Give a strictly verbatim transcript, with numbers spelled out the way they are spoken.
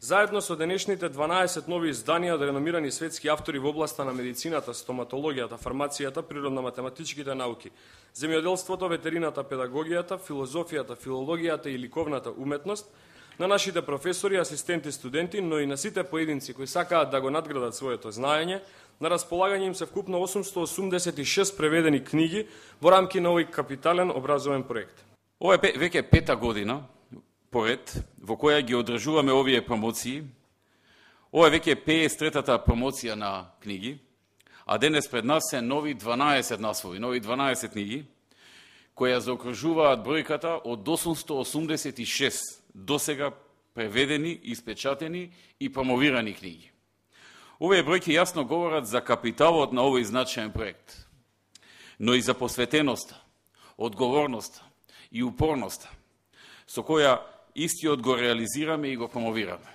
Заедно со денешните дванаесет нови изданија од реномирани светски автори во областа на медицината, стоматологијата, фармацијата, природно-математичките науки, земјоделството, ветерината, педагогијата, филозофијата, филологијата и ликовната уметност, на нашите професори, асистенти, студенти, но и на сите поединци кои сакаат да го надградат своето знаење, на располагање им се вкупно осумсто осумдесет и шест преведени книги во рамки на овој капитален образовен проект. Ова е веќе пета година поред во која ги одржуваме овие промоции. Ова е веќе пеесет и третата промоција на книги, а денес пред нас се нови дванаесет наслови, нови дванаесет книги, која заокружуваат бројката од осумсто осумдесет и шест досега преведени, испечатени и промовирани книги. Овие бројки јасно говорат за капиталот на овој значаен проект, но и за посветеноста, одговорноста и упорноста со која истиот го реализираме и го промовираме.